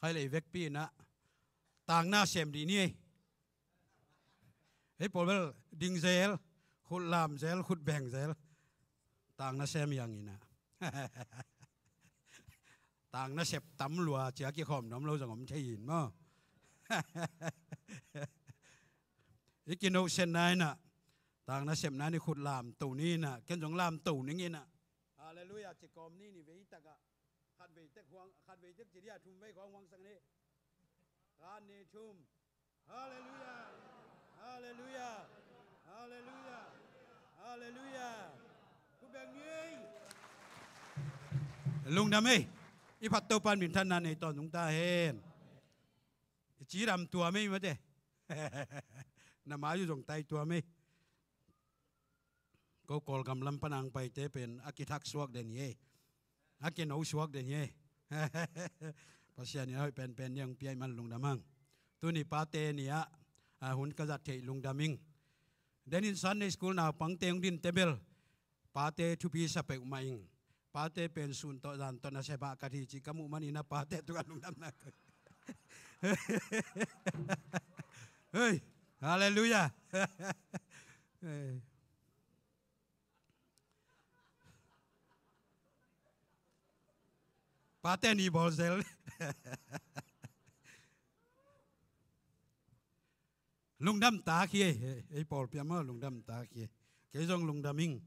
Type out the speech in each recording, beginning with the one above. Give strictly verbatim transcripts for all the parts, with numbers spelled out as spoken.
Khai lei vekpi inah tangna sem dih ni ei. Ei pawl bel ding zel, khut lam zel, khut beng zel. Tangna sem hiang inah. Tangna sep tam lua cia kikhawm nuam lo zong om thei in maw? I kinohsetna inah tangna sepna ni khut lamto ni inah, ken zong lamto ning inah. Halleluiah, ci kawm ni ni vei takah. Khat vei tek huang, khat vei tek ci dia thum vei khawng huang sak ni. Khat ni thum. Halleluiah. Halleluiah. Halleluiah. Halleluiah. Khut beng ni ei. Lungdam ei. I phat Topa'n minthanna nei tawn zong ta hen. I cidam tuam ei mate. Na mai uh zong tai tuam ei. Ko Kawlgam lam pan ang paite pen a kithak suak den hi ei. A kino suak den hi ei. Pasian in a hoih penpen ni ang piai man lungdam hang. Tuni pate ni ah, a, hun ka zat theih lungdam ing. Den in Sunday school naupangte hong din te bel pate thupi sa peuhmah ing. Pate pen sun tawh zan tawh na sepah ka thi cih ka muh manin a pate tungah lungdamna. Hei, halleluiah. Hei. Pate ni bawl zel. Lungdam tak hi ei, ei pawlpi ah maw lungdam tak hi ei. Kei zong lungdam ing.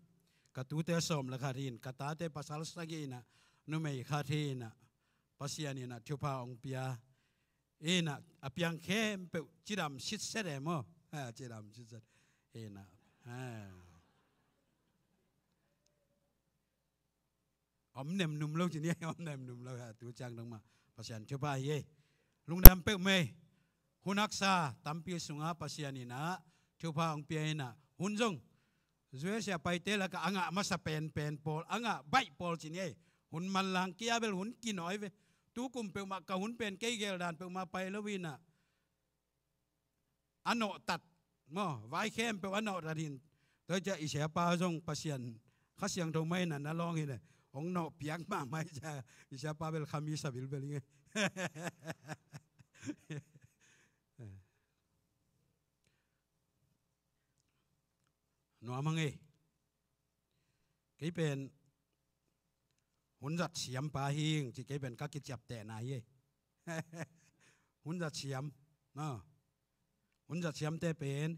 Ka tute sawm le khat hi in, ka tate pasal sagih inah, numei khat hi inah, Pasian inah thupha hong pia. Inah a piang khempeuh cidam sitset e maw? Ha, cidam sitset. Inah. Ha. Om nemnum lo ci ni, om nemnum lo, ha, tu ciang dong mah Pasian thupha hi ei. Lungdam peuhmah ei. Hun haksa tampi sungah Pasian inah thupha hong pia inah, hun zong U S A paite lakah a ngah masa penpen pawl, a ngah baih pawl ci ni ei. Hun manlang kia bel hun kinawi ve. Tu kum peuhmah ka hun pen kei geldan peuhmah pai lo inah a nawhtat maw, vai khempeuh a nawhtat hi in. Tua ciah i siapa zong Pasian Kha Siangtho mah inah na lawng hi le, hong nawh piak mahmah hi ciah i siapa bel kha mi sabilbel hi ngei. Nuam hang ei. Kei pen hun zat siampa hi ing ci, kei pen ka kiciaptehna hi ei. Hun zat siam, maw. Hun zat siamte pen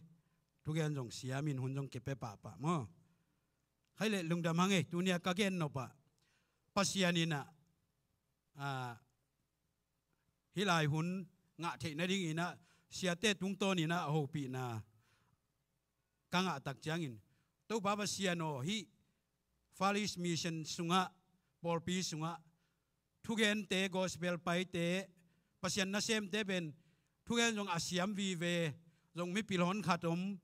thugen zong siam in hun zong kipia pahpah maw. Khai leh lungdam hang ei, tuni a ka gen nop ah Pasian inah, a, hih lai hun ngah theih nading inah siate tungtawn inah a hopihna ka ngah tak ciangin, Topa Pasian aw, hih Far East Mission sungah, pawlpi sungah thugente, gospel paite, Pasian nasemte pen thugen zong a siam vive, zong mipil hon khat om.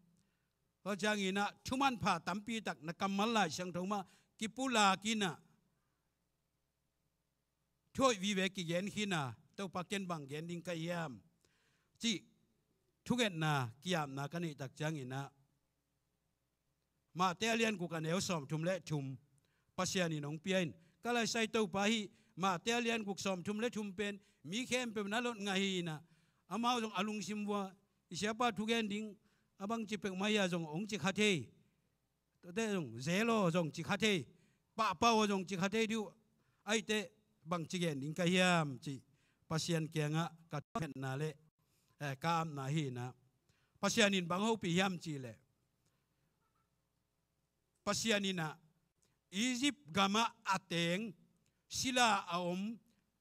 Tua ciang inah thumanpha tampi tak na kammal Lai Siangtho mah kipulak inah thu hoih vive kigen khin a, Topa ken bang gen ding ka hiam cih thungetna, ki-apna ka neih tak ciang inah Matthai a lian guk a neu sawmthum le thum Pasian in hong pia in, ka laisai Topa hih Matthai a lian guk sawmthum le thum pen mi khempeuh na lot ngah hi inah, amau zong a lungsim vua i siapa thugen ding a bangci peuhmah hi a zong hong ci kha thei. Tuate zong zel aw zong ci kha thei, pahpah aw zong ci kha thei dih uh. Ahih teh bangci gen ding ka hiam cih Pasian kiangah ka thungetna le, eh, ka apna hi inah, Pasian in bang hopih hiam cih leh, Pasian inah Egypt gamah a teng, sila a om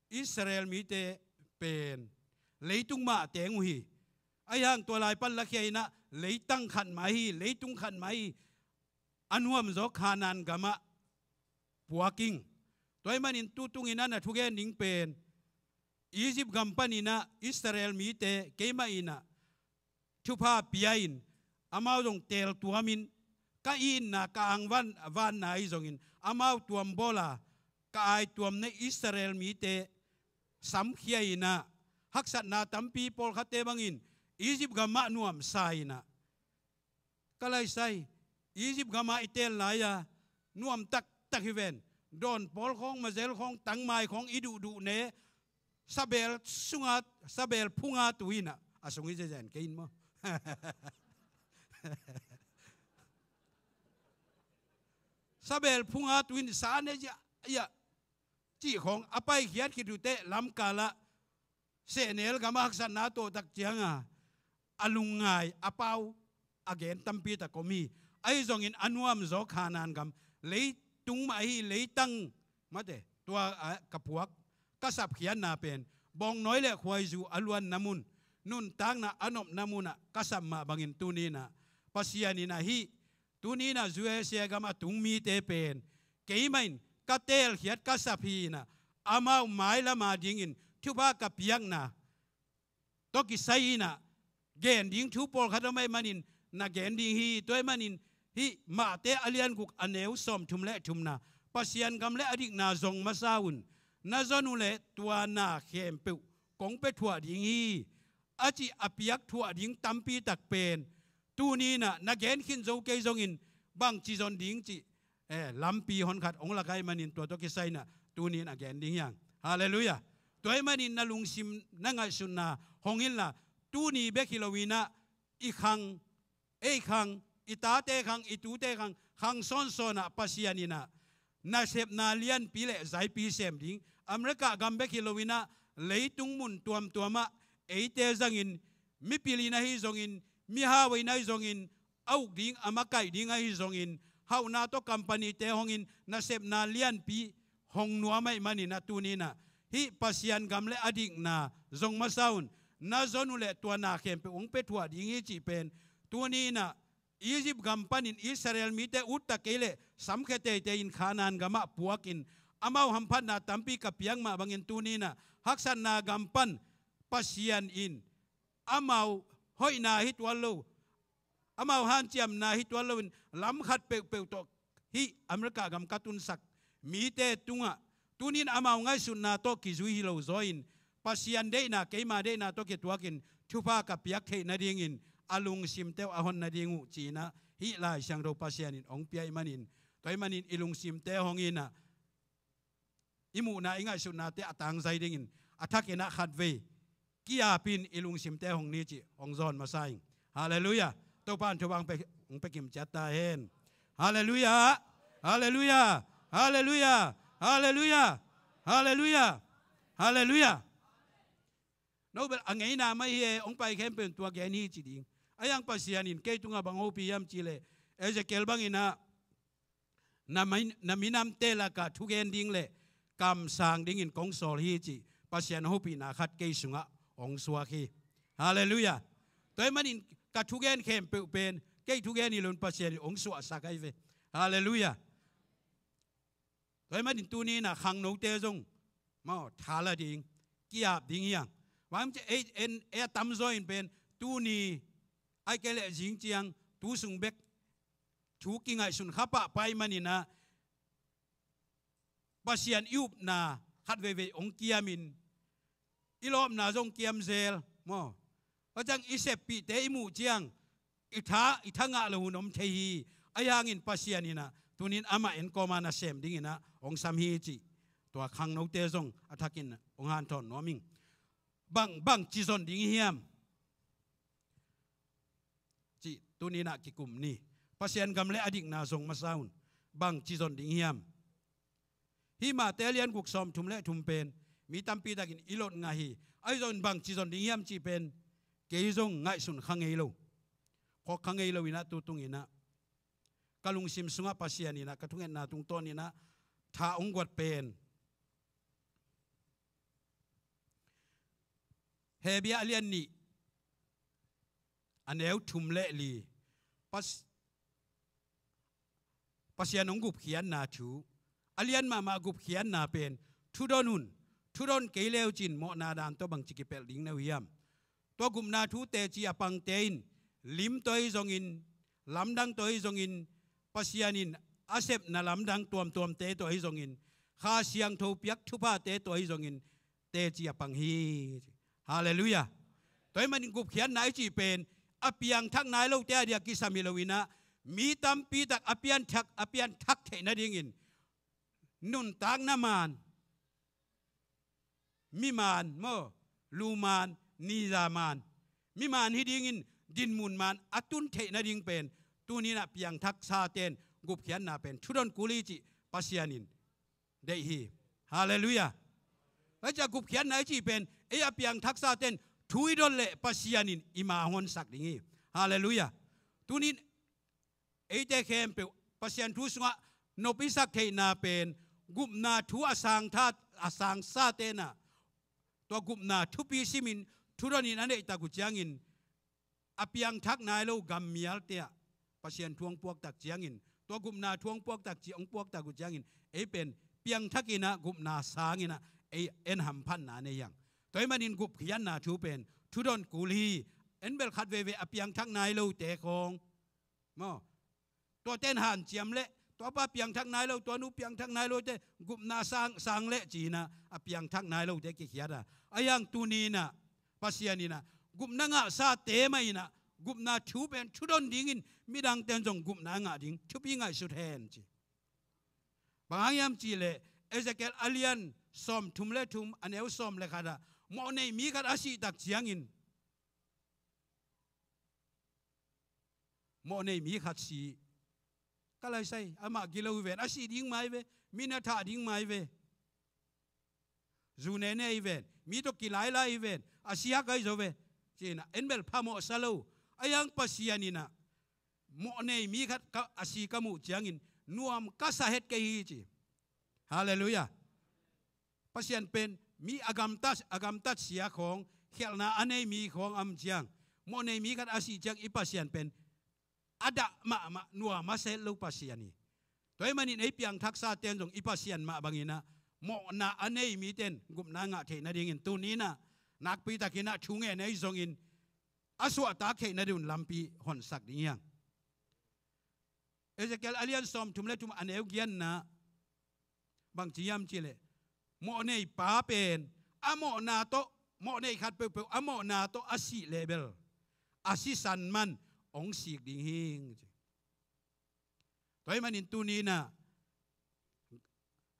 Israel mite pen leitung mah a teng uh hi. Ahi hang tua lai pan lakhia inah leitang khat mah hi, leitung khat mah hi. A nuamzaw Kanaan gamah puak ing. Tua ahih manin tutung inah na thugen ding pen Egypt gam pan inah Israel mite keimah inah thupha pia in, amau zong teel tuamin, ka itna, ka angvan, vanna ahi zongin amau tuam bawl a, ka aituamna Israel mite samkhia inah, haksatna tampi pawlkhatte bangin Egypt gam mah nuamsa inah, ka laisai, Egypt gam ah i teel lai-a nuam taktak hi ven. Dawn pawl khawng, mazel khawng, tangmai khawng i duhduh ne, Sabel sunga, sabel phunga tu in ah, a sung hi zenzen kei in maw. Sabel phunga tu in sa ne zia, ia, cih khawng a paikhiat khit uh teh lamkal ah sehnel gam a haksatna tawh tak cianga a lungngai a pau a gen tampi tak om hi. Ahi zongin a nuamzaw Khanaan gam, leitung mah ahi leitang mate tua a ka puak ka sapkhiatna pen bawngnawi le khuaizu a luanna mun, nuntakna a nopna munah ka sap mah bangin tuni in ah Pasian in ah hih tuni in ah U S A gam a tung mite pen keimah in ka teelkhiat ka sap hi in ah, amau mailam a dingin thupha ka piakna tawh kisai in ah gen ding thu pawlkhat om ahih manin na gen ding hi. Tua ahih manin hih Mate a lian guk a neu sawmthum le thumna, Pasian gam le a dikna zong masa un, na zon uh leh tua na khempeuh kong pia thuah ding hi, a cih a piak thuah ding tampi tak pen tuni in ah na gen khin zo kei zongin bangci zon ding cih, eh, lampi honkhat hong lak ahih manin tua tawh kisai in ah tuni in a gen ding hi hang. Halleluiah. Tua ahih manin na lungsim na ngaihsutna hong inla, tuni bek hi lo in ah i khang, ei khang, i tate khang, i tute khang, khang sawnsawn ah Pasian in ah nasepna lianpi le zaipi sem ding, America gam bek hi lo in ah leitung mun tuamtuam ah eite zangin, mipil in ahi zongin, mihau in ahi zongin, a uk ding a makaih ding ahi zongin, hauhna tawh company-te hong in nasepna lianpi hong nuam ahih manin ah tuni in ah hih Pasian gam le a dikna zong masa un, na zon uh leh tua na khempeuh hong pia thuah ding hi cih pen tuni in ah Egypt gam panin Israel mite utta kei leh samkhia teitei in Khanaan gam ah puakin amau hamphatna tampi ka piak mah bangin tuni in ah haksatna gam pan Pasian in amau hoihna hi tuan lo, amau hanciamna hi tuan loin lam khat peuhpeuh tawh hih America gam ka tunsak mite tungah tuni in amau ngaihsutna tawh kizui hi lo zaw in, Pasian deihna keima deihna tawh kituakin thupha ka piak theih nadingin a lungsimte uh a hon nading uh ci-in ah hih Lai Siangtho Pasian in hong pia ahih manin, tua ahih manin i lungsimte hong in ah i muhna i ngaihsutnate a tangzai dingin a thakin ah khatvei ki-ap in i lungsimte hong ni cih hong zawn masa ing. Halleluiah. Topa in thupha hong pia, hong pia kim ciat ta hen. Halleluiah. Halleluiah. Halleluiah. Halleluiah. Halleluiah. Halleluiah. No bel a ngeina mah hi e, hong pai khempeuh in tua gen hi ci ding. Ahi hang Pasian in kei tungah bang hopih hiam cih leh, Ezekiel bangin ah na mi-, na minamte lakah thugen ding le kamsang dingin kong sawl hi cih Pasian hopihna khat kei sungah hong suak hi. Halleluiah. Tua ahih manin ka thugen khempeuh pen kei thugen hi loin Pasian in hong suahsak ahi ve. Halleluiah. Tua ahih manin tuni in ah khangnote zong maw, tha la ding, ki-ap ding hi hang. Bang hang hiam cih leh ei, en, ei a tamzaw in pen tuni ahih kei leh zing ciang tu sung bek thu kingaihsun kha pahpah ahih manin ah Pasian i upna khat veivei hong kiamin, i lawpna zong kiam zel maw. Tua ciang i seppihte i muh ciang i tha, i tha ngah lo hun om thei hi. Ahi hangin Pasian in ah tuni in amah en kawma nasem dingin ah hong sam hi cih tua khangnote zong a thakin hong hanthawn nuam ing. Bang, bangci zon ding hiam cih tuni in ah kikum ni. Pasian gam le a dikna zong masa un. Bangci zon ding hiam? Hih Mate a lian guk sawmthum le thum pen mi tampi takin i lot ngah hi. Ahi zongin bangci zon ding hiam cih pen kei zong ngaihsun kha ngei lo, khawk kha ngei lo in ah tu tung in ah ka lungsim sungah Pasian in ah ka thungetna tungtawn in ah tha hong guat pen Hebru a lian nih a neu thum le li. Pas-, Pasian hong gupkhiatna thu, a lian mahmah gupkhiatna pen thudon un, thudon kei le uh cin mawhna dan tawh bangci kipelh ding na uh hiam? Tua gupna thu teci a pangte in lim tawh ahi zongin, lamdang tawh ahi zongin, Pasian in a sepna lamdang tuamtuamte tawh ahi zongin, Kha Siangtho piak thuphate tawh ahi zongin teci a pang hi. Halleluiah. Tua ahih manin gupkhiatna i cih pen a piangthak nai lote a dia kisam hi lo in ah mi tampi tak a pianthak, a pianthak theih nadingin nuntakna man mimaan maw, lumaan, nizamaan, mimaan hi dingin dinmun maan a tun theih nading pen, tuni-in ah piangthaksa ten gupkhiatna pen thudon kul hi cih Pasian in deih hi. Halleluiah. Tua ciang gupkhiatna i cih pen ei a piangthaksa ten thu i don leh Pasian in i ma honsak ding hi. Halleluiah. Tuni-in eite khempeuh Pasian thu sungah nop i sak theihna pen gupna thu a sangtha, a sangsa ten ah tua gupna thupi simin thudonin a neihtak uh ciangin a piangthak nai lo gammialte ah Pasian thu hong puaktak ciangin, tua gupna thu hong puaktak ci, hong puaktak uh ciangin ei pen piangthakin ah gupna sangin ah ei en hamphatna nei hi hang. Tua ahih manin gupkhiatna thu pen thudon kul hi. En bel khat veivei a piangthak nai lote khawng maw, tuate in hanciam leh, tua pa piangthak nai lo, tua nu piangthak nai lote gupna sang, sang leh ci-in ah a piangthak nai lote kikhiat a. Ahi hang tuni-in ah Pasian in ah gupna ngahsate mah in ah gupna thu pen thudon dingin midangte in zong gupna a ngah ding thupi ngaihsut hen ci. Bang hang hiam cih leh Ezekiel a lian sawmthum le thum, a neu sawm le khat ah mawhnei mi khat a sihtak ciangin, mawhnei mi khat si, ka laisai, amah gilo hi ven, a sih ding mah hi ve, mi na thah ding mah hi ve, zu nene hi ven, mi tawh kilailai hi ven, a si hak ahi zaw ve, ci-in ah en bel phamawh sa lo. Ahi hang Pasian in ah mawhnei mi khat ka, a si ka muh ciangin nuam ka sa het kei hi ci. Halleluiah. Pasian pen mi a gamtat, a gamtat sia khawng, khialhna a nei mi khawng a om ciang, mawhnei mi khat a sih ciang i Pasian pen a dah mahmah, nuam a sa het lo Pasian hi. Tua ahih manin ei piangthaksa ten zong i Pasian mah bangin ah mawhna a nei mite in gupna ngah theih nadingin tuni-in ah nakpitakin ah thu ngen ahi zongin a suahtak theih nading un lampi honsak ding hi hang. Ezekiel a lian sawmthum le thum, a neu giatna, bang ci hiam cih leh mawhnei pa pen a mawhna tawh, mawhnei khat peuhpeuh a mawhna tawh a sih leh bel a sisan man hong sik ding hi, ci. Tua ahih manin tuni-in ah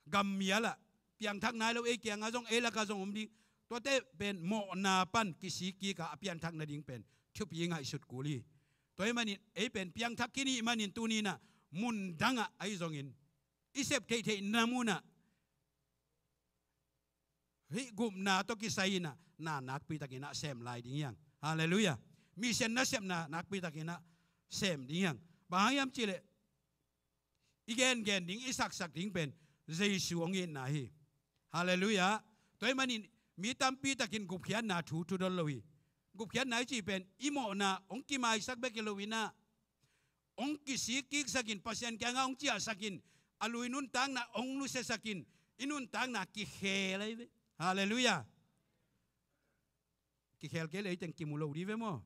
gammial ah piangthak nai lo ei kiangah zong, ei lakah zong om ding, tuate pen mawhna pan kisik kik a, a pianthak nading pen thupi ngaihsut kul hi. Tua ahih manin ei pen piangthak khin i hih manin tuni-in ah mun dangah ahi zongin i sep theihtheihna munah hih gupna tawh kisai-in ah na nakpitakin ah sem lai ding hi hang. Halleluiah. Mission nasepna nakpitakin ah sem ding hi hang. Bang hang hiam cih leh i gengen ding, i saksak ding pen Jesu hong itna hi. Halleluiah. Tua ahih manin mi tampitakin gupkhiatna thu thudon lo hi. Gupkhiatna i cih pen i mawhna hong kimaisak bek hi lo-in ah hong kisik kiksakin, Pasian kiangah hong ciahsakin, a lui nuntakna hong nusiasakin, i nuntakna kikhel ahi ve. Halleluiah. Kikhel kei leh ei teng kimu lo ding ve maw.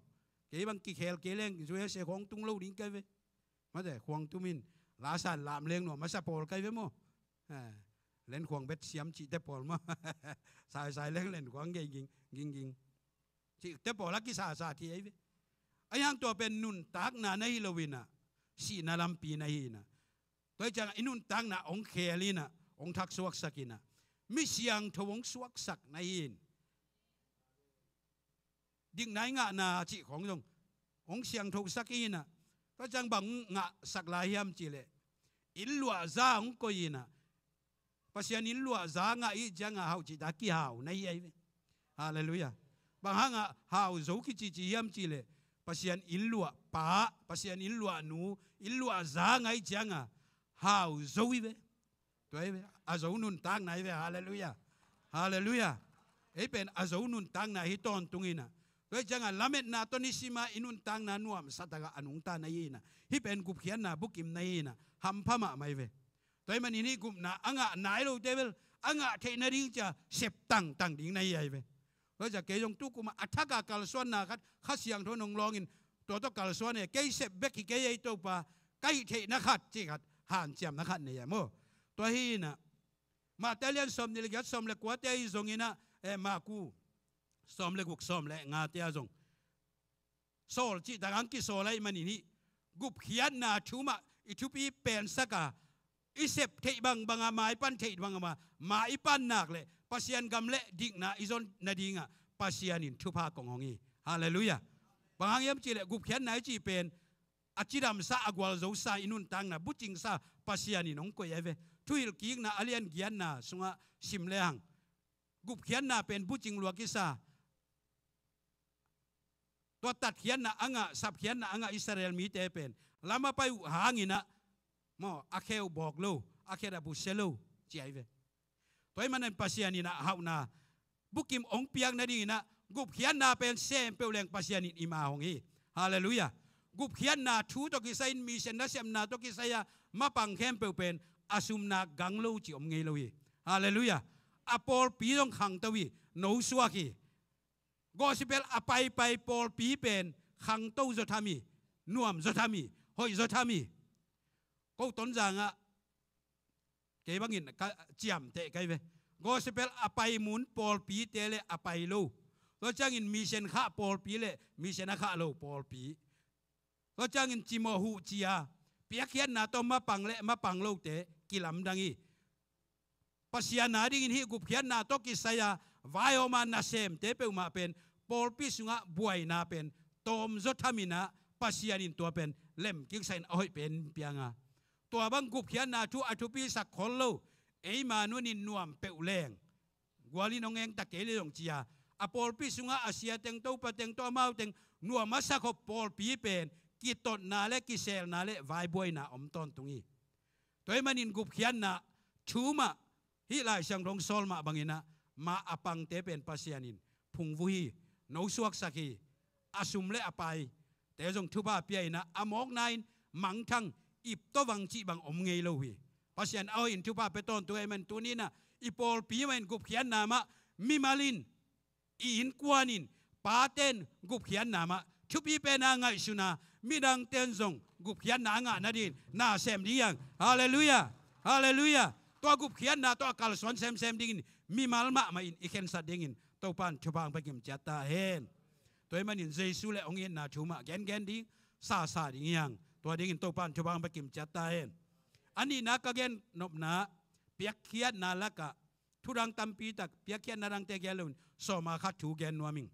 Kei bang kikhel kei leng U S A khawng tung lo ding ka hi ve. Mate, khuang tumin lasan lam leng nuam masa pawl ka hi ve maw. Eh, len khuang bet siam cihte pawl maw. Saisai leng len khuang gei ging, ging, ging. Cihte pawl a kisasa thei ahi ve. Ahi hang tua pen nuntakna na hi lo-in ah sihna lampi na hi-in ah, tua hi ciangah i nuntakna hong khel-in ah, hong thaksuaksak-in ah, mi siangtho hong suaksak na hi-in, dikna i ngahna cih khawng zong hong siangthosak hi-in ah, tua ciang bang ngahsak lai hiam cih leh, inn luahza hong koih-in ah, Pasian inn luahza ngah i hih ciangah hau cihtak kihau na hi ahi ve. Halleluiah. Bang hangah hau zo kicici hiam cih leh, Pasian inn luahpa, Pasian inn luahnu, inn luahza ngah i hih ciangah hau zo hi ve. Tua hi ve, a zo nuntakna hi ve. Halleluiah. Halleluiah. Ei pen a zo nuntakna hi tawntung-in ah, tua hi ciangah lametna tawh nisim a i nuntakna nuamsa takah a nungta na hi-in ah, hih pen gupkhiatna bukim na hi-in ah, hampha mahmah hi ve. Tua ahih manin hih gupna a ngah nai lote bel a ngah theih nading ci-a sep tangtang ding na hi ahi ve. Tua hi ciah kei zong tu kum a thak a kalsuanna khat Kha Siangtho in hong lawngin, tua tawh kalsuan e, kei sep bek hi kei ei Topa, ka hih theihna khat cih khat, hanciamna khat nei a maw. Tua hi-in ah Mate lian sawmnih le giat, sawm le kuate ahi zongin ah, eh, Maku sawm le guk, sawm le ngate ah zong sawl cihtak hong kisawl ahih manin hih gupkhiatna thu mah i thupi pensak a, i sep theih bangbang a, ma i pan theih bangbang a, ma i pan nak leh Pasian gam le dikna i zon nadingah Pasian in thupha kong hong hi. Halleluiah. Bang hang hiam cihleh gupkhiatna i cih pen a cidamsa, a gualzosa i nuntakna bucingsa Pasian in hong koih ahi ve. Thuhilhkikna a lian giatna sungah sim lehang gupkhiatna pen bucing lua kisa. Tua tatkhiatna a ngah, sapkhiatna a ngah Israel mite pen lam a pai uh hanginah maw, a khe uh bawk lo, a khet a busia lo ci ahi ve. Tua ahih manin Pasian inah hauhna bukim hong piak nadinginah gupkhiatna pen sem peuh leng Pasian in i ma hong hi. Halleluiah. Gupkhiatna thu tawh kisai-in, mission nasepna tawh kisai-a mapang khempeuh pen a sumna gang lo ci om ngei lo hi. Halleluiah. A pawlpi zong khangto hi, nosuak hi. Gospel a paipai pawlpi pen khangto zaw tham hi, nuam zaw tham hi, hoih zaw tham hi. Ko Tonzangah kei bangin ka ciamteh kai ve. Gospel a pai mun pawlpite le a pai lo, tua ciangin mission khah pawlpi le mission a khah lo pawlpi, tua ciangin cimawh huh cia, piakkhiatna tawh mapang le mapang lote kilamdang hi. Pasian adingin hih gupkhiatna tawh kisai-a vaihawma nasemte peuhmah pen pawlpi sungah buaina pen tawmzaw thaminah Pasian in tua pen lemkiksakin a hoih pen pianga. Tua bang gupkhiatna thu a thupisak khol lo, eima nunin nuam peuh leng gualin hong engta kei le zong cia, a pawlpi sungah a siateng, topateng tawh amauteng nuam a sakhop pawlpi pen kitotna le kiselna le vaibuaina om tawntung hi. Tua ahih manin gupkhiatna thu mah, hih Lai Siangtho hong sawl mah banginah ma a pangte pen Pasian in phungvuh hi, nosuaksak hi. A sum le a paite zong thupha pia inah a mawkna-in mangthang ip tawh vang cih bang om ngei lo hi. Pasian a hoih in thupha pia tawntung ahih manin tuninah i pawlpi mah in gupkhiatna mah, mimal in, i innkuan in, paten gupkhiatna mah thupi pena ngaihsuna, midangten zong gupkhiatna a ngah nadingin nasem ding hi hang. Halleluiah. Halleluiah. Tua gupkhiatna tawh a kalsuan semsem dingin mimal mahmah in i khensat dingin Topan thupha hong pia kimciat ta hen. Tua ahih manin Jesu le hong itna thu mah gengen ding, sasa ding hi hang. Tua dingin Topan thupha hong pia kimciat ta hen. A nihna ka gen nopna, piakkhiatna lakah thudang tampi tak, piakkhiatna dangte gen loin sawma khat thu gen nuam ing.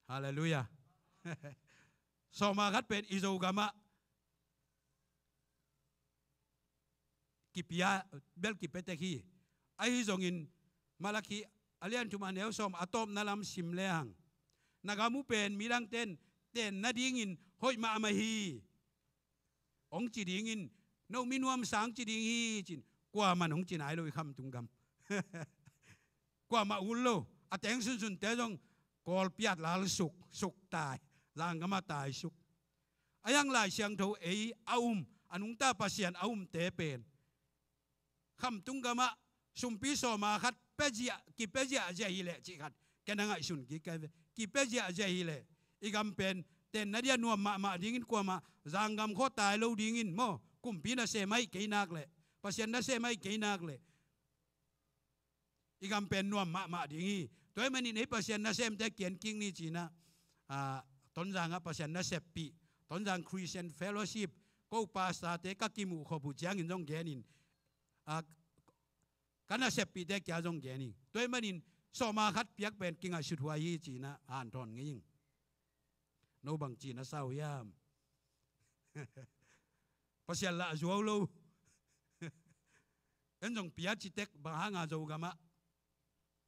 Halleluiah. Sawma khat pen i Zogamah kipia, bel kipia tek hi. Ahi zongin Malakhi a lian thum a neu sawm a tawpna lam sim lehang, na gam uh pen midangten ten nadingin hoih mahmah hi hong ci dingin, no mi nuamsa hong ci ding hi ci-in kuaman hong ci nai lo i khamtung gam. Kuamah ut lo, a teng sunsunte zong Kawlpi-ah lal suk, suk tai, zanggamah tai suk. A hiang Lai Siangtho ei a um, a nungta Pasian a umte pen khamtung gamah sumpi sawma khat pia ziah, kipia ziahziah hileh cih khat ken a ngaihsun kik ka hi ve. Kipia ziahziah hileh i gam pen tenna dia nuam mahmah dingin, kuamah zanggam khua tai lo dingin maw, kumpi nasem ahih kei nak leh, Pasian nasem ahih kei nak leh i gam pen nuam mahmah ding hi. Tua ahih manin ei Pasian nasemte kian kik ni ci-inah, ah, Tonzangah Pasian naseppih, Tonzang Christian Fellowship, ko pastorte ka kimuh khop uh ciangin zong genin, ah, ka naseppihte kia zong gen hi. Tua ahih manin sawma khat piak pen kingaihsut huai hi ci-inah hanthawn ngei ing. No bang ci-in a sa uh hiam? Pasian lah a zuau lo. En zong pia ci tek, bang hanga Zogamah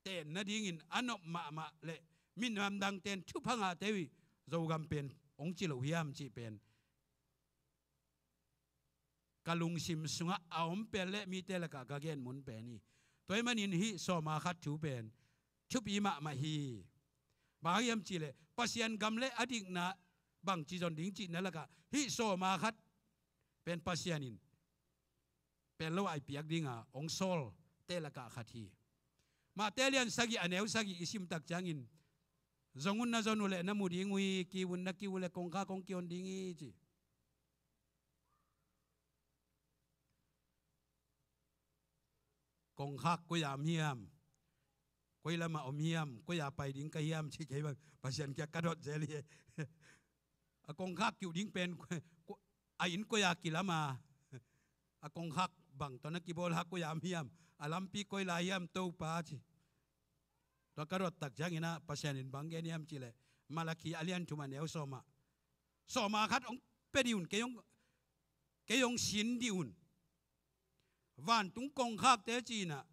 ten nadingin a nop mahmah le minam dangten thupha ngahte uh hi, Zogam pen hong ci loh hiam cih pen ka lungsim sungah a om pen le mite lakah ka gen mun pen hi. Tua ahih manin hih sawma khat thu pen thupi mahmah hi. Bang hang hiam cihleh Pasian gam le a dikna bangci zon ding cihna lakah hih sawma khat pen Pasian in pel lo ai piak dinga hong sawlte lakah khat hi. Matthai lian sagih a neu sagih i simtak ciangin, zong un na zon uh leh na mu ding uh hi, kiu un na kiu uh leh kongkhak hong kion ding hi ci. Kongkhak koi-ah om hiam? Koi lamah om hiam? Koi-ah pai ding ka hiam ci kei bang Pasian kiang ka dot zel hi. A kongkhak kiuh ding pen a inn koi-ah kilam a, a kongkhak bang tawh na kibawl a, koi-ah om hiam? A lampi koi lai hiam Topa ci. Tua ka dot tak ciangin ah Pasian in bang gen hiam cih leh, Malakhi a lian thum a neu sawm ah, sawma khat hong pia dih un, kei hong, kei hong sin dih un. Vantung kongkhakte ci-in ah,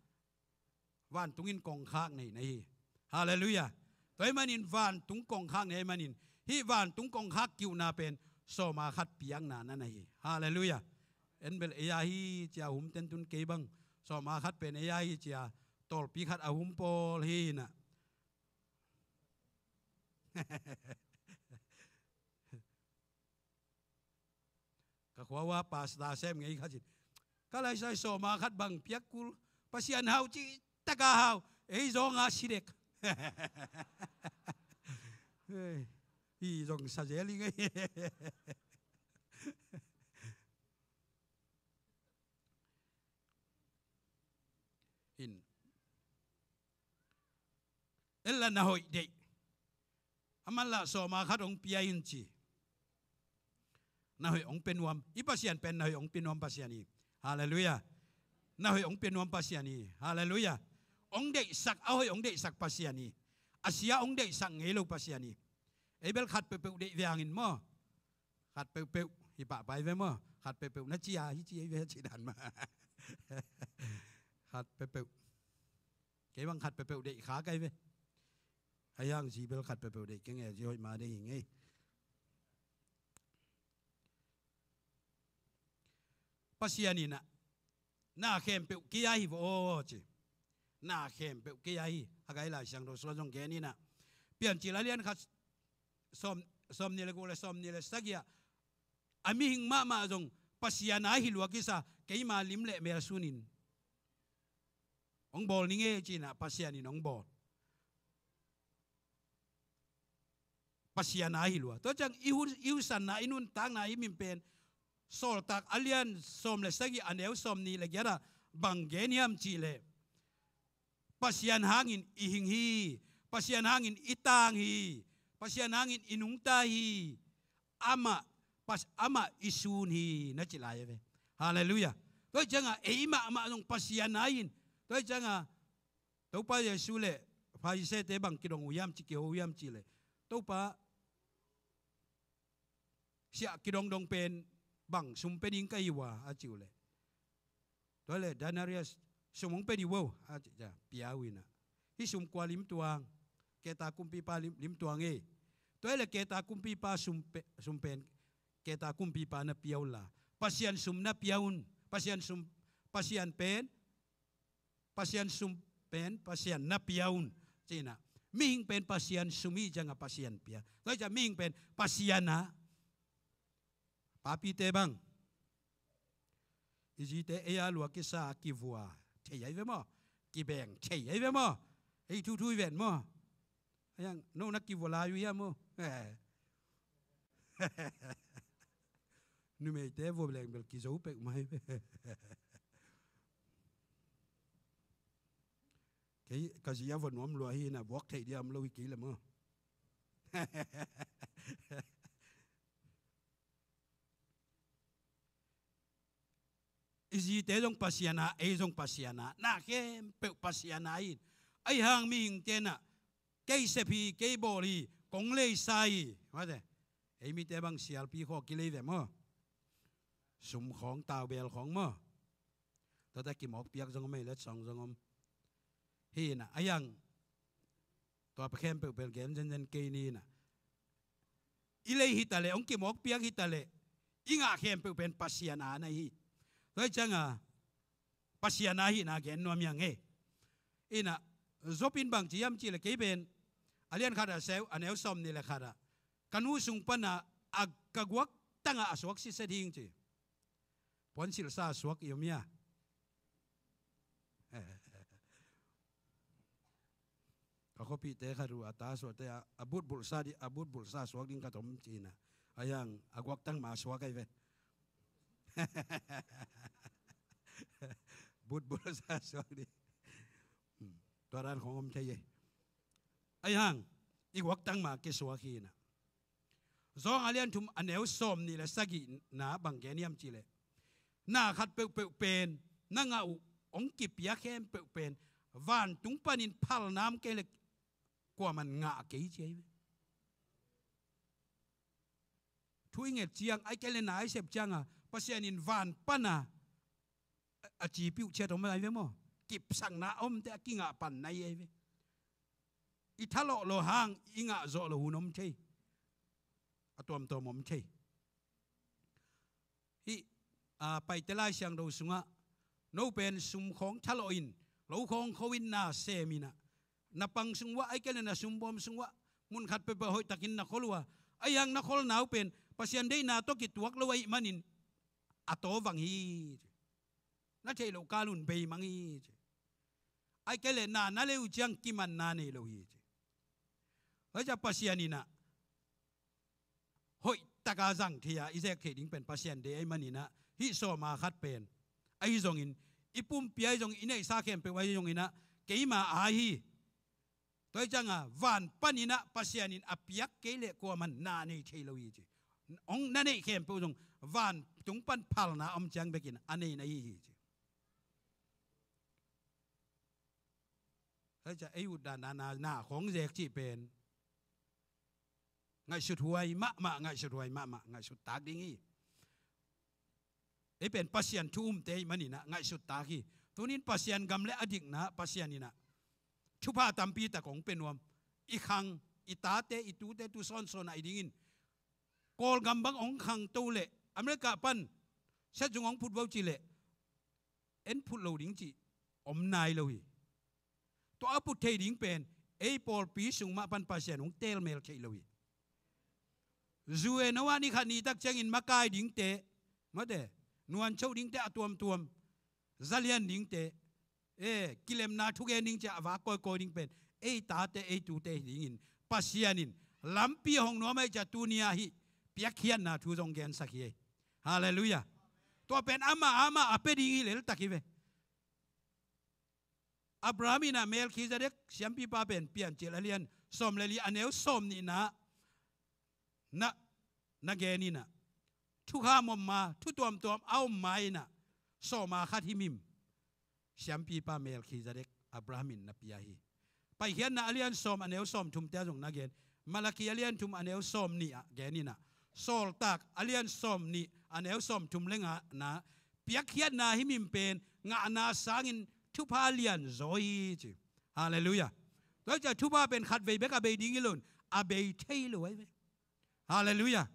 vantung in kongkhak nei na hi. Halleluiah. Tua ahih manin vantung kongkhak nei ahih manin, hih vantung kongkhak ki-ukna pen sawma khat piakna na na hi. Halleluiah. En bel ei a hi ci-a hum ten tun kei bang sawma khat pen ei a hi ci-a tawlpi khat a hum pawl hi-in ah. Ka khua ua pastor sem ngei khat in, ka laisai sawma khat bang piak kul, Pasian hau cih tak a hau, ei zong a si dek. Hei, hi zong sa zel hi ngei. In. Ella na hoih deih. Aman lah sawma khat hong pia in ci. Na hoih hong pia nuam. I Pasian pen na hoih hong pia nuam Pasian hi. Halleluiah. Na hoih hong pia nuam Pasian hi. Halleluiah. Hong deihsak, a hoih hong deihsak Pasian hi. A sia hong deihsak ngei lo Pasian hi. Ei bel khat peuhpeuh deih ve hangin maw. Khat peuhpeuh hi pahpah hi ve maw. Khat peuhpeuh na ci a hi ci hi ve ci dan mah. Khat peuhpeuh. Kei bang khat peuhpeuh deih kha kai ve. Ahi hang zi bel khat peuhpeuh deih keng e, zi hoih ma deih hi ngei. Pasian in ah, na khempeuh kei a hi vaw aw ci. Na khempeuh kei a hi. Haggai Lai Siangtho sung ah zong gen in ah, Piancil a lian khat sawm, sawmnih le guk le sawmnih le sagih ah, a mihing mahmah zong Pasian a hi lua kisa, keima lim le mel sunin hong bawl ning e ci-in ah Pasian in hong bawl. Pasian a hi lua. Tua ciang i hu-, i husanna, i nuntakna, i min pen Sawltak a lian sawm le sagih a neu sawmnih le giat ah bang gen hiam cih leh, Pasian hangin i hing hi. Pasian hangin i tang hi. Pasian hangin i nungta hi. Amah, Pas-, amah i sun hi na ci lai a ve. Halleluiah. Tua hi ciangah ei mahmah zong Pasian a hi in. Tua hi ciangah Topa Jesu le Pharisee-te bang kidong uh hiam ci, kiho uh hiam cih leh, Topa, siah kidongdong pen bang sum pia ding ka hi uh a, a ci uh leh, tua leh denarius sum hong pia dih uh o a ci, pia uh in ah, hih sum kua limtuang, keta kumpipa lim-, limtuang e. Tua leh keta kumpipa sum pe-, sum pen keta kumpipa na pia un la, Pasian sum na pia un. Pasian sum, Pasian pen Pasian sum pen Pasian na pia un, ci-in ah. Mihing pen Pasian sum hi ciangah Pasian pia. Tua hi ciangah mihing pen Pasian a, papite bang, i zite ei a lua kisa, kivua thei ahi ve maw? Kibeng thei ahi ve maw? Ei thuthu hi ven maw? Ahi hang no na kivua lai uh hiam maw? Numeite vua leng bel kizo pek mai. Kei ka zi a vua nuam lua hi na, buak theih dia om lo hi kei le maw. I zite zong Pasian a, ei zong Pasian a, na khempeuh Pasian a in. Ahi hang mihingte na, kei sep hi, kei bawl hi, kong leisa hi. Mate, ei mite bang sialpi khaw kilei ve maw? Sum khawng, taubel khawng maw? Tuate kimawkpiak zong om ei, letsong zong om. Hi na, ahi hang tua pa khempeuh pel gen zenzen kei ni na. I lei hi ta leh, hong kimawkpiak hi ta leh, i ngah khempeuh pen Pasian a na hi. Tua hi ciangah Pasian a hihna gen nuam hi hang e. Ina, Job in bang ci hiam cih leh, kei pen a lian khat a seu, a neu sawmnih le khat ah, ka nu sung pana a ka guaktangah a suak sitset hing ci. Puansilhsa a suak i om hia? Ka khuapihte khat uh a ta suahte a, a butbulhsa di, a butbulhsa suak ding khat om ci-in ah. Ahi hang a guaktang mah a suak ahi ve. Butbulhsa suak ding. Hmm. Tua dan khong om thei e. Ahi hang i guaktang mah kisuak hi-in ah. Zawng a lian thum a neu sawmnih le sagihna bang gen hiam cih leh, na khat peuhpeuh pen na ngah uh hong kipia khempeuh pen vantung panin phalna om kei le kuaman ngah kei ci ahi ve. Thu i nget ciang, ahih kei le na i sep cianga Pasian in van pana a, a cipiuh ciat om ahi ve maw? Kipsakna a omte a kingah panna hi ahi ve. I thalawh lo hang i ngah zawh lo hun om thei. A tuamtuam om thei. Hih, a, Paite Lai Siangtho sungah, no pen sum khawng thalawh in, lo khawng kho in na sem in ah, na pang sung uah, ahih kei le na sumbawm sung uah, mun khat peuhpeuh hoihtakin na khol uh a, ahi hang na kholna uh pen Pasian deihna tawh kituak lo ahih manin a tawvang hi ci. Na theih loh kal un beimang hi ci. Ahih kei le na na lei uh ciang kimanna nei lo hi ci. Tua hi ciah Pasian in ah hoihtaka zang thei a i zek theih ding pen Pasian deih ahih manin ah, hih sawma khat pen ahi zongin, i pumpi ahi zongin, i neihsa khempeuh ahi zongin ah, keima aa hi. Tua hi cianga van panin ah Pasian in a piak kei le kuaman na nei thei lo hi ci. Hong na neih khempeuh zong vantung pan phalna om ciang bekin a nei na hi hi ci. Tua hi ciah ei utdan na, na, na khawng zek cih pen ngaihsut huai mahmah, ngaihsut huai mahmah, ngaihsut tak ding hi. Ei pen Pasian thu umte ahih manin ah ngaihsut tak hi. Tunin Pasian gam le a dikna Pasian in ah thupha tampi tak hong pia nuam. I khang, i tate, i tute tu sawnsawn ah i dingin Kawlgam bang hong khangto leh America pan siatzung hong phut vo cih leh en phut lo ding cih om nai lo hi. Tua a phut thei ding pen ei pawlpi sung mah pan Pasian hong telmel thei lo hi. Zu e no ah ni khat ni tak ciangin makai dingte, mate, nuancho dingte a tuamtuam, zalian dingte, e, kilemna thugen ding ciah a vak kawikawi ding pen ei tate, ei tute hi dingin Pasian in lampi hong nuam ahih ciah tuni-ah hih piakkhiatna thu zong gensak hi ei. Halleluiah. Tua pen amah amah a pia ding hi leltak hi ve. Abraham in ah Melkhizedek siampipa pen Piancil a lian sawm le li a neu sawm nihna na, na gen in ah, thukham om ma, thu tuamtuam a om ma in ah, sawma khat himhim siampipa Melkhizedek Abraham in na pia hi. Paikhiatna a lian sawm a neu sawm thumte ah zong na gen. Malakhi a lian thum a neu sawm nih ah gen in ah, Sawltak a lian sawm nih a neu sawm thum le ngana, piakkhiatna himhim pen ngahna sangin thupha lian zaw hi ci. Halleluiah. Tua hi ciah thupha pen khatvei bek a bei ding hi lo in, a bei thei lo ahi ve. Halleluiah.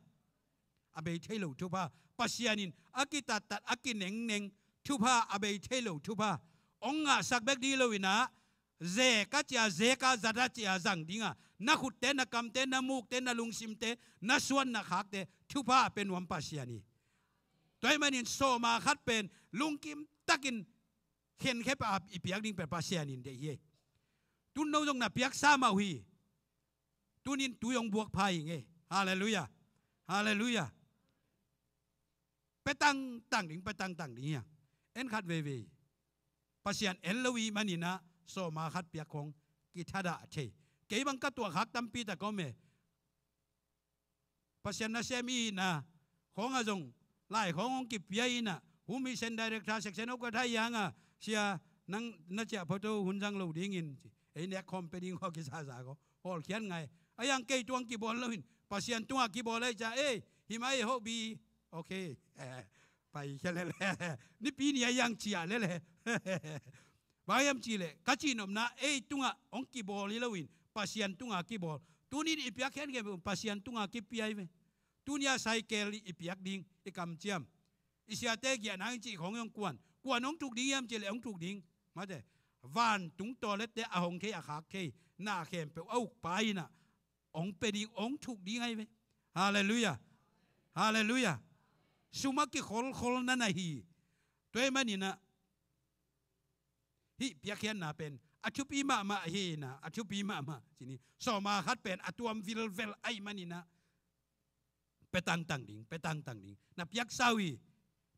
A bei thei lo thupha. Pasian in a kitattat, a kinengneng thupha, a bei thei lo thupha hong ngahsak bek ding hi lo in ah, zek a cia zek a, zat a cia zang ding a, na khutte, na kamte, na mukte, na lungsimte, na suan na khakte thupha a pia nuam Pasian hi. Tua ahih manin sawma khat pen lungkim takin khenkhia a i piak ding pen Pasian in deih hi. Tun no zong na piaksa mah uh hi. Tunin tui hong buak pha hi ing ei. Halleluiah. Halleluiah. Pia tangtang ding, pia tangtang ding hi a. En khat veivei. Pasian en lo i hih manin ah sawma khat piak khawng kithadah thei. Kei bang ka tuahkhak tampi tak om e. Pasian nasem i hihna khawng ah zong lai khawng hong kipia in ah, home mission director, section hope ka thai hang a, sia, nang na ciah photo hun zang lo dingin ci. Ei nek khawm pia ding khaw kizaza khaw hawlkhiat ngai. A yang kei tungah kibawl lo in, Pasian tungah kibawl ahih ciah, ei, hih mah ei hope bi. Ok. Paikhia lel. Nipi ni a yang ciah lel. Bang hiam cihleh ka cihnopna, ei tungah hong kibawl hi lo in, Pasian tungah kibawl. Tunin i piakkhiat khempeuh Pasian tungah kipia hi ve. Tuni-a cycle i piak ding, i kamciam, i siate giahna hang cih khawng hong kuan. Kuan hong thuk ding hiam cihleh hong thuk ding. Mate, vantung tawlette a hong thei, a khak thei na khempeuh a ukpa in ah hong pia ding, hong thuk ding ahi ve. Halleluiah. Halleluiah. Sum a kikholkhol na na hi. Tua ahih manin ah hih piakkhiatna pen a thupi mahmah hi in ah, a thupi mahmah. Cih ni, sawma khat pen a tuam vilvel ahih manin ah pia tangtang ding, pia tangtang ding. Na piaksa uh hi.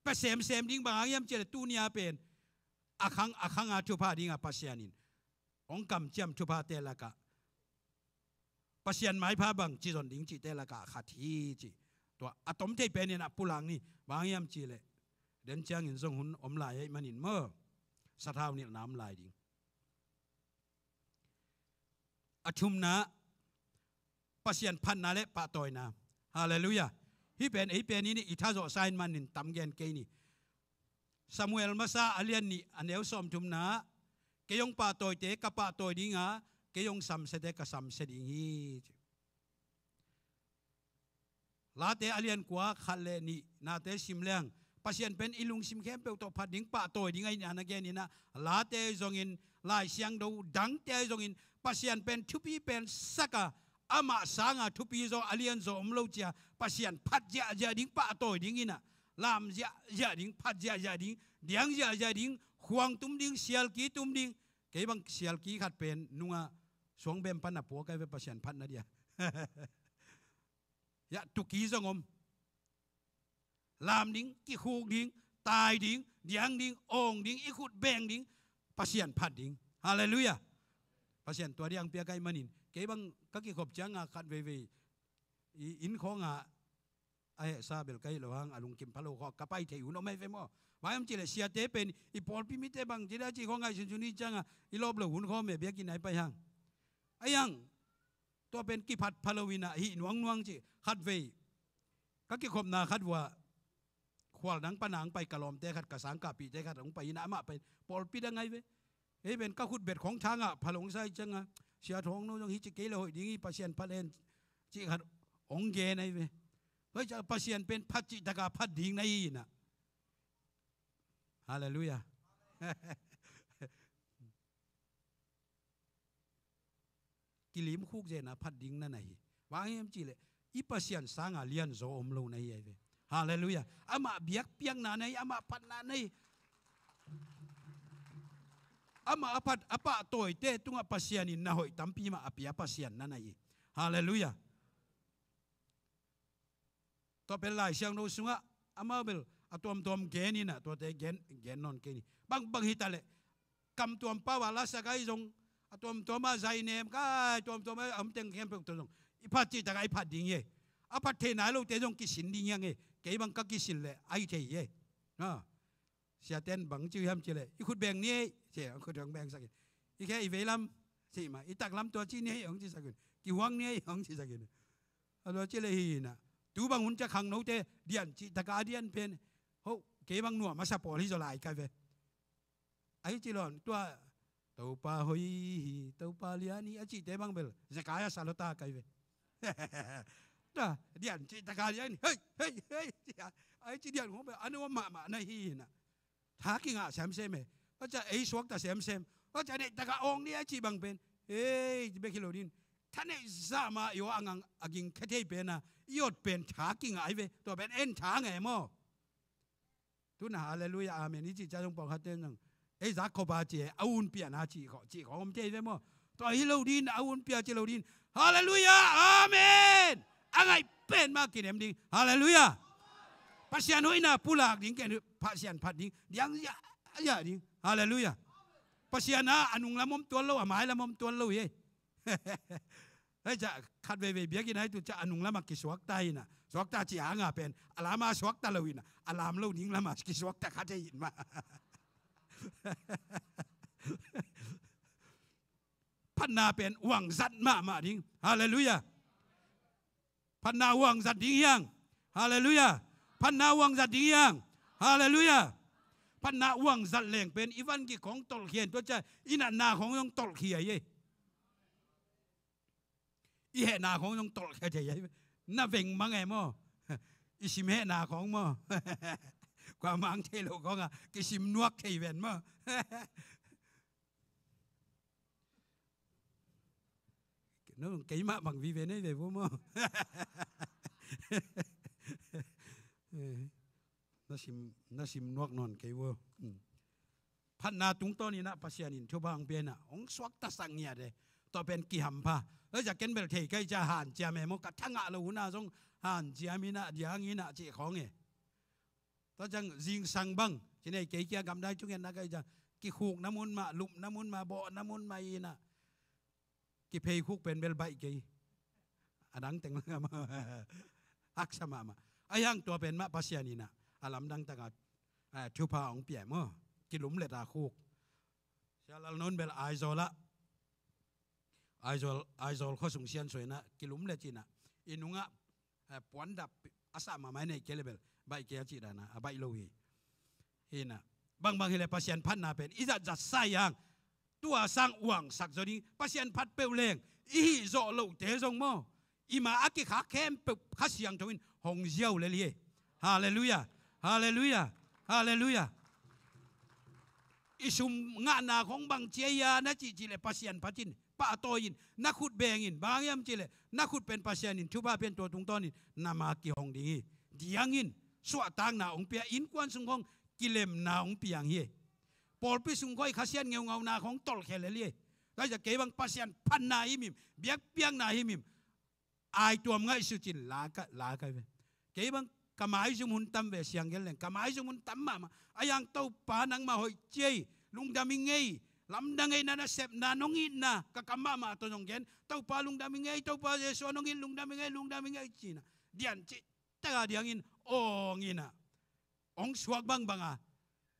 Pia semsem ding, bang hang hiam cihleh tuni-a pen a khang, a khang a thupha ding a Pasian in hong kamciam thuphate lakah Pasian maipha bangci zon ding cihte lakah khat hi ci. Tua a tom thei penin a pulak ni. Bang hang hiam cihleh den ciangin zong hun om lai ahih manin maw. sathau nilhna om lai ding. A thumna, Pasian phatna le pahtawina. Halleluiah. Hih pen ei pen i tha zawhsa in manin tam gen kei ni. Samuel masa a lian nih a neu sawmthumna, kei hong pahtawite ka pahtawi dinga, kei hong samsiate ka samsia ding hi. Late a lian kua khat le nih nate sim leng, Pasian pen i lungsim khempeuh tawh phat ding, pahtawi ding ahihna na gen inah, Late ahi zongin, Lai Siangtho dangte ahi zongin, Pasian pen thupi pen saka, amah sanga thupi zaw, a lian zaw om lo cia, Pasian phat ziahziah ding, pahtawi ding inah, lam ziahziah ding, phat ziahziah ding, diang ziahziah ding, khuang tum ding, sialki tum ding. Kei bang sialki khat pen nunga suangbem pan a puak ai ve Pasian phatna dia. Yah, tuki zong om. Lam ding, kikhuk ding, tai ding, diang ding, awng ding, i khut beng ding, Pasian phat ding. Halleluiah. Pasian tua diang piak ai manin. Kei bang ka kikhop cianga khat veivei i inn khawnga a hehsa bel ka hih lo hang, a lungkim pha lo khawng ka pai thei hun om ai ve maw. Vai om cileh siate pen i pawlpi mite bang cida ci khawng ai sunsun hi cianga i lawp lo hun khawng me biakinn ai pai hang. Ai hang, tua pen kiphat pha lo inah hih nuangnuang ci khat vei. Ka kikhopna khat vua khual dang pana hong pai ka lawmte khat, ka sangkahpihte khat hong pai inah amah pai pawlpi dang ai ve. Ei pen ka khut bet khawng thangah pha lo hong sa hi cianga, Sia Thawng No zong hi ci kei le hoih ding hi, Pasian phat hen ci khat hong gen ai ve. Tua hi ciah Pasian pen phat cihtaka phat ding na hi inah. Halleluiah. Kilim khuk zena phat ding na na hi. Bang hiam cihleh i Pasian sanga lianzaw om lo na hi ai ve. Halleluiah. Amah biakpiakna na hi, amah phatna na hi. Amah a phat a pahtawite tungah Pasian in na hoih tampi mah a pia Pasian na na hi. Halleluiah. Tua pen Lai Siangtho sungah amau bel a tuamtuam gen inah tuate gen, gen nawn kei ni. Bang, bang hitaleh kam tuam pau a lasak ai zong a tuamtuam a zainem kai, tuamtuam a om teng khempeuh tua zong i phat cihtaka i phat ding hi. A phat thei nai lote zong kisin ding hiang hi. Kei bang ka kisin leh ai thei hi. Siaten bang ci uh hiam cileh i khut beng ni ei ci, khut hong bengsak in. I khe i veilam ci mah, i taklam tua ci ni ei hong cisak in. Kihuang ni ei hong cisak in. A tua cileh hi inah tu bang hun ciah khangnote dian cihtaka a dian pen ho, kei bang nuam a sa pawl hi zaw lai kai ve. Ahi ci lon tua Topa hoih hi, Topa lian hi a cihte bang bel Zekaia sa lota kai ve. Tua dian cihtaka lian hi, hei hei hei. Ahi ci dian khong bel a nuam mahmah na hi inah. Tha kingah semsem e. Tua ciah ei suakta semsem. Tua ciah neihtaka awng ni a cih bang pen, ei bek hi lo din, tha neih zah mah i aw a ngang a ging khe thei pena i awt pen tha kingah ai ve. Tua pen en tha nge maw. Tuna halleluiah, amen i cih ciah zong pawlkhatte zong ei zak khop a ci e, a un piahna cih khawng, cih khawng om thei ve maw. Tua hi lo din, a un pia ci lo din. Halleluiah, amen. A ngaih pen mah kinem ding. Halleluiah. Pasian hoihna pulak ding, ken Pasian phat ding, diang ziahziah ding. Halleluiah. Pasian a, a nunglam om tuan lo, a mailam om tuan lo hi. Hei ciah khat veivei biakinn ai tu ciah a nunglamah kisuakta inah, suakta cih hanga pen a lama suakta lo inah, a lam lo ding lamah kisuakta khat hi in mah. Phatna pen uangzat mahmah ding. Halleluiah. Phatna uangzat ding hiang. Halleluiah. Phatna uangzat ding hiang. Halleluiah. Phatna uangzat leng pen i van gik khong tolhkhia in tua ciah i natna khong zong tolhkhia hi. I hehna khong zong tolhkhia thei hi. Na veng mang e maw. I sim hehna khong maw. Kua mang thei lo khong a kisim nuak thei ven maw. No, keimah bang vive nei ve vo maw. Na sim, na sim nuak nawn kei vo. Phatna tungtawn inah Pasian in thupha hong pia inah hong suaktasak ngiat e. Tua pen kihampha. Hei ciah ken bel thei kai ciah hanciam e maw, ka thangah lo hunah zong hanciam inah diang inah cih khawng e. Tua ciang zingsang bang ci nei kei kia gamdai thungetna kai ciah kikhukna mun mah, lupna mun mah, bawhna mun mah inah kipheikhuk pen bel baih kei. A dang teng mah haksa mahmah. A hiang tua pen mah Pasian inah a lamdang takah thupha hong pia maw. Kilumlet a khuk. Sia Lal Nawn bel Aizawl ah, Aizawl, Aizawl khuasung siansuah in ah kilum le cin ah, i nungah, eh, puandap a sah mahmah i neih kei le bel baih kei a cih dan a, a baih lo hi. Hi in ah, bangbang hi le Pasian phatna pen i zatzat sa hi hang, tua sang uangsak zaw ding, Pasian phat peuh leng i hih zawh lohte zong maw, i ma a kikhak khempeuh Kha Siangtho in hong ziau lel hi. Halleluiah. Halleluiah. Halleluiah. I sum ngahna khong bang ci a hia na cihcih le Pasian phat in, pahtawi in, na khut beng in, bang hang hiam cih le na khut pen Pasian in thupha pia in, tua tungtawn in na ma kihong ding hi. Diang in, suahtakna hong pia, innkuan sung khong kilemna hong piang hi. Pawlpi sung khawng i khasiat ngeungauna khong tolhkhia lel hi. Tua hi ciang kei bang Pasian phatna himhim, biakpiakna himhim, aituam ngaihsut cin la ka, la ka hi ve. Kei bang ka maizum hun tam ve, siang gen leng ka maizum hun tam mahmah. A hang Topa nangmah hoih ci ei, lungdam ing ei, lamdang ei, na nasepna, nong itna ka kam mahmah tawh zong gen, Topa lungdam ing ei, Topa Jesu nong it lungdam ing ei, lungdam ing ei ci in ah, dian cih tak a diang in awng in ah, hong suak bangbang a,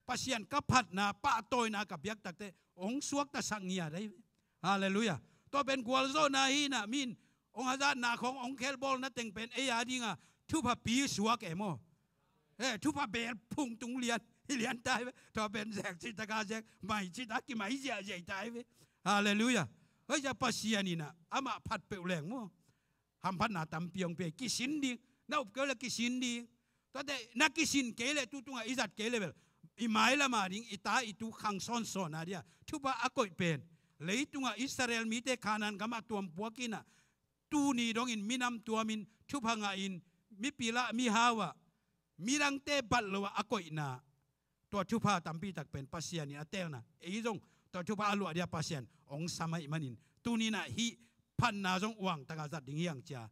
Pasian ka phatna, pahtawina ka piak takteh hong suaktasak ngiat ahi ve. Halleluiah. Tua pen gualzawhna hi in ah, mi in hong hazatna khong, hong khelbawlna teng pen ei a ding a thupha pi suak e maw. Eh, thupha bel phung tung lian hi lian ta hi ve. Tua pen zek cih tak a zek, mai cih tak a kimai ziahziah ta hi ve. Halleluiah. Tua hi ciang Pasian in ah amah phat peuh leng maw, hamphatna tampi hong pia hi. Kisin ding, na up kei uh leh kisin ding. Tuate na kisin kei leh, tu tungah i zat kei leh bel, i mailam a ding, i ta i tu khang sawnsawn a dia thupha a koih pen, leitungah Israel mite Kanaan gamah tuam puak in ah, tuni dongin minam tuamin, thupha ngahin, mipil ah, mihau ah, midangte bat lo ah a koihna, tua thupha tampi tak pen Pasian in a teelna, ei zong tua thupha a luah dia Pasian hong sam ahih manin, tuni in ah hih phatna zong uang tak a zat ding hi hang ci a,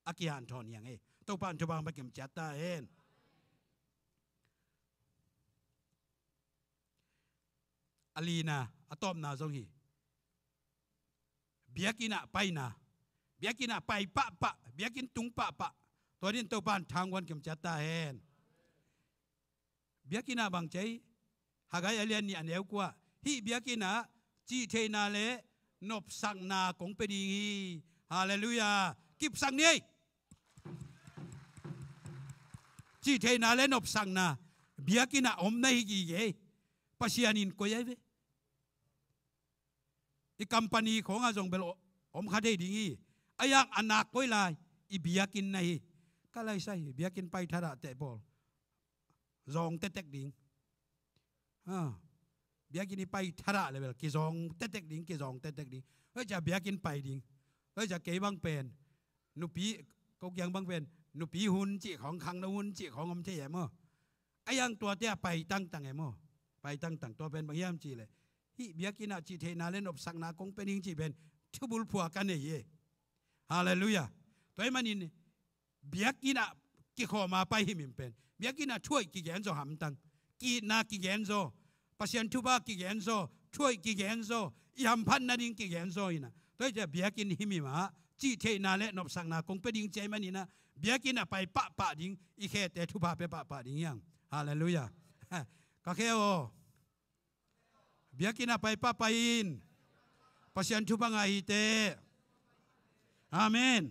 a kihanthawn hi hang e. Topa in thupha hong pia kim ciat ta hen. A lina, a tawpna zong hi. Biakinn ah paina. Biakinn ah pai pahpah, biakinn tung pahpah. Tua dingin Topa in thangguan kim ciat ta hen. Biakinn ah bang ci a hi? Haggai a lian nih a neu kua ah, hih biakinn ah cihtheihna le nopsakna kong pia ding hi. Halleluiah. Kipsak ni ei. Cihtheihna le nopsakna biakinn ah om na hi gige hi. Pasian in koih ahi ve. I company khawngah zong bel om kha thei ding hi. A hang a nak koi lai, i biakinn na hi. Ka laisai, biakinn pai thadah teh pawl, zawng tetek ding. Ha. Biakinn i pai thadah le bel kizawng tetek ding, kizawng tetek ding. Tua hi ciang biakinn pai ding. Tua hi ciang kei bang pen nupi, ko kiang bang pen nupi hun cih khawng, khangno hun cih khawng om thei e maw. A hang tuate ah pai tangtang e maw. Pai tangtang, tua pen bang hiam cih leh, hih biakinn ah cihtheihna le nopsakna kong pia ding cih pen thubulphuh ka nei e. Halleluiah. Tua ahih manin biakinn ah kikhawm a pai himhim pen, biakinn ah thuhoih kigen zaw hamtang, ki-itna kigen zaw, Pasian thupha kigen zaw, thuhoih kigen zaw, i hamphat nading kigen zaw in ah. Tua hi ciang biakinn himhim ah cihtheihna le nopsakna kong pia ding ci ahih manin ah, biakinn ah pai pahpah ding, i khete thupha pia pahpah ding hi hang. Halleluiah. Ka khe aw. Biakinn ah pai pahpah in. Pasian thupha ngah hi teh. Amen.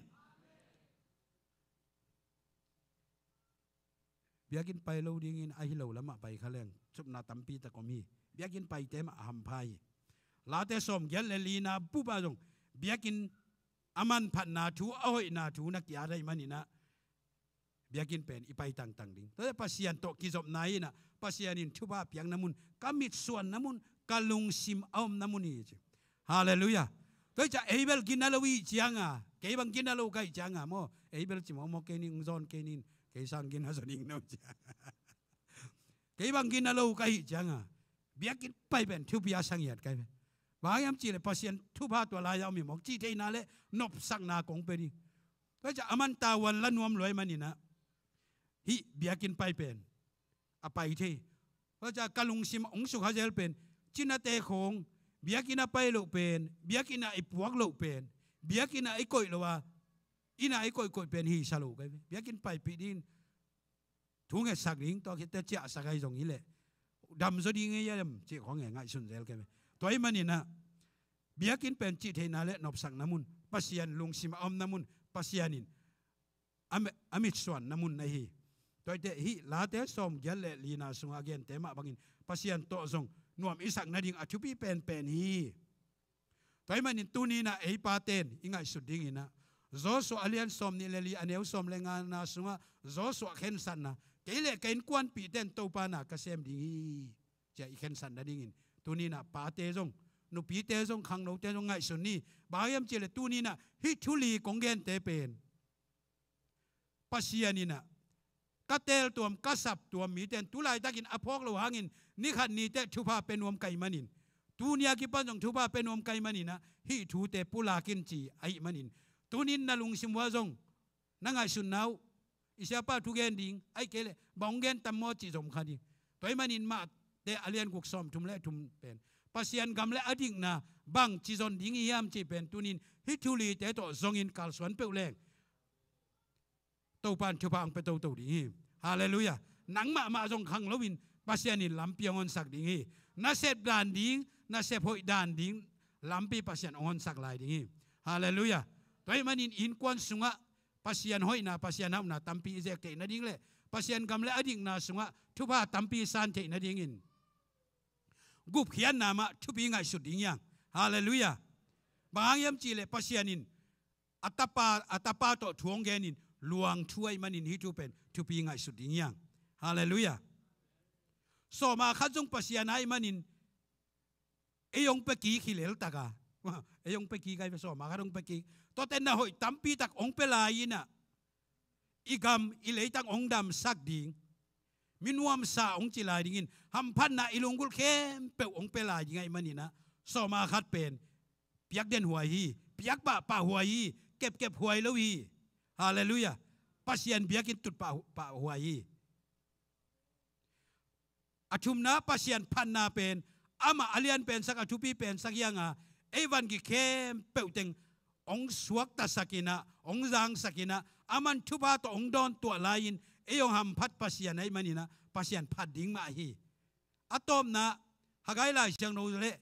Biakinn pai lo dingin a hi lo lamah pai kha leng, supna tampi tak om hi. Biakinn paite mah a hampha hi. Late sawmgiat le lina bup ah zong biakinn a manphatna thu, a hoihna thu na ki-at ahih manin ah, biakinn pen i pai tangtang ding. Tua Pasian tawh kizopna hi in ah, Pasian in thupha piakna mun, ka mitsuanna mun, ka lungsim a omna mun hi ci. Halleluiah. Tua hi ciang ei bel gina lo i hih ciang a, kei bang gina lo ka hih ciang a maw, ei bel ci mawkmawk kei ning, zawn kei ning, kei sang gina zaw ning no ci a. Kei bang gina lo ka hih ciang a, biakinn pai pen thupi a sa ngiat ka hi pen. Bang hiam cih leh Pasian thupha tua lai-ah om hi mawk, cihtheihna le nopsakna kong pia ding. Tua hi ciang a man tavuan la nuam lua ahih manin ah, hih biakinn pai pen a pai thei. Tua hi ciang ka lungsim hong sukha zel pen, cinate khawng, biakinn ah pai loh pen, biakinn ah i puak loh pen, biakinn ah i koih loh a, inn ah i koihkoih pen hisa lo ka hi ve. Biakinn paipih dingin thu ngetsak ding, tua khit teh ciahsak ahi zong hi leh, damzaw ding hi hiam cih khawng e, ngaihsun zel ka hi ve. Tua ahih manin ah, biakinn pen cihtheihna le nopsakna mun, Pasian lungsim a omna mun, Pasian in a mi-, a mitsuanna mun na hi. Tua ahih teh hih Late sawmgiat le lina sungah a gente mah bangin Pasian tawh zong nuam i sak nading a thupi penpen hi. Tua ahih manin tuni-in ah ei pate in i ngaihsut dingin ah, Joshua a lian sawmnih le li a neu sawm le ngana sungah Joshua khensatna, kei le ka innkuanpihte in Topa na ka sem ding hi, ci-a i khensat nadingin tuni-in ah pate zong, nupite zong, khangnote zong ngaihsun ni. Bang hang hiam cih leh tuni-in ah hih thu li kong gente pen Pasian in ah ka teeltuam, ka saptuam mite in tu laitakin a phawk loh hangin ni khat ni teh thupha pia nuam ka hih manin, tuni a kipan zong thupha pia nuam ka hih manin ah hih thute pulak in ci ahih manin, tuni-in na lungsim uah zong na ngaihsutna uh, i siapa thu gen ding, ahih kei leh bang hong gen tam maw cih zom kha ding. Tua ahih manin Mate a lian guk sawmthum le thum pen Pasian gam le a dikna bangci zon ding i hiam cih pen tuni-in hih thu lite tawh zongin kalsuan peuh leng Topa in thupha hong pia toto ding hi. Halleluiah. Nang mahmah zong khang loin Pasian in lampi hong honsak ding hi. Na sep dan ding, na sep hoih dan ding lampi Pasian hong honsak lai ding hi. Halleluiah. Tua ahih manin innkuan sungah Pasian hoihna, Pasian hauhna tampi i zek theih nading le Pasian gam le a dikna sungah thupha tampi i san theih nadingin gupkhiatna mah thupi ngaihsut ding hi hang. Halleluiah. Bang hang hiam cih leh Pasian in a tapa, a tapa tawh thu hong genin luang thu ahih manin hih thu pen thupi ngaihsut ding hi hang. Halleluiah. Sawma khat zong Pasian ahih manin ei hong pia kik hi leltak a. Ei hong pia kik a, sawma khat hong pia kik. Tuate na hoih tampi tak hong pia lai-in ah i gam i leitang hong damsak ding, mi nuamsa hong ci lai dingin, hamphatna i lunggulh khempeuh hong pia lai ding ahih manin ah sawma khat pen piak den huai hi, piak pahpah huai hi, kepkep huai lo hi. Halleluiah. Pasian biakinn tut pahpah huai hi. A thumna, Pasian phatna pen amah a lian pensak, a thupi pensak hi hang a, ei vangik khempeuh teng hong suaktasak in ah, hong zangsak in ah, aman thupha tawh hong dawntuah lai-in ei hong hamphat Pasian ahih manin ah Pasian phat ding mah hi. A tawpna, Haggai Lai Siangtho le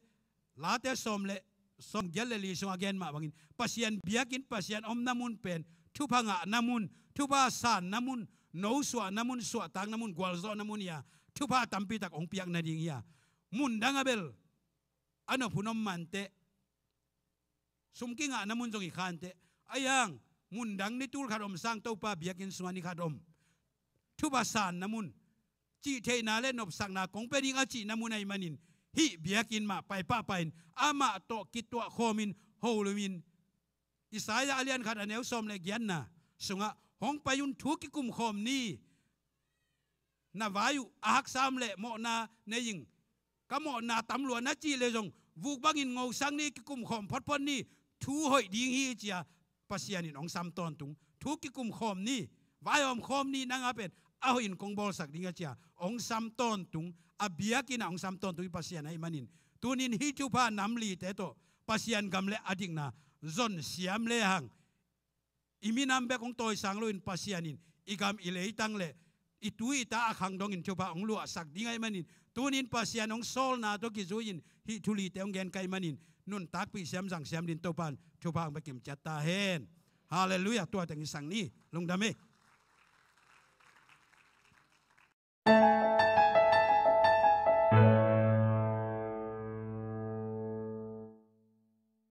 Late sawm le, sawmgiat le li sungah a gen mah bangin Pasian biakinn, Pasian omna mun pen thupha ngahna mun, thupha sanna mun, no suahna mun, suahtakna mun, gualzawhna mun hi a, thupha tampi tak hong piak nading hi a, mundang ah bel a nop hun om mah inteh, sum kingahna mun zong hi kha inteh, ahih hang mundang ni tul khat om sang Topa biakinn sungah ni khat om, thupha sanna mun, cihtheihna le nopsakna kong pia ding a cihna mun ahih manin hih biakinn mah pai pahpah in amah tawh kituah khawmin, holim in, Isaiah a lian khat a neu sawm le giatna sungah, hong pai un, thu kikum khawm ni, na vai uh a haksa om leh mawhna nei ing, ka mawhna tam lua na cih leh zong vuk bangin ngosak ni, kikum khawm photphot ni, thu hoih ding hi, ci-a Pasian in hong sam tawntung. Thu kikum khawm ni, vaihawm khawm ni, nang a pen a hoih in kong bawlsak ding a, ci-a hong sam tawntung, a biakinn ah hong sam tawntung hi Pasian ahih manin, tuni-in hih thupha nam lite tawh Pasian gam le a dikna zon siam lehang, i minam bek hong tawisang loin Pasian in i gam, i leitang le i tu i ta a khang dongin thupha hong luahsak ding ahih manin, tuni-in Pasian hong sawlna tawh kizui-in hih thu lite hong gen ka hih manin, nuntakpih siam zang siam dingin Topa in thupha hong pia kimciat ta hen. Halleluiah. Tua teng i sang ni. Lungdam hi.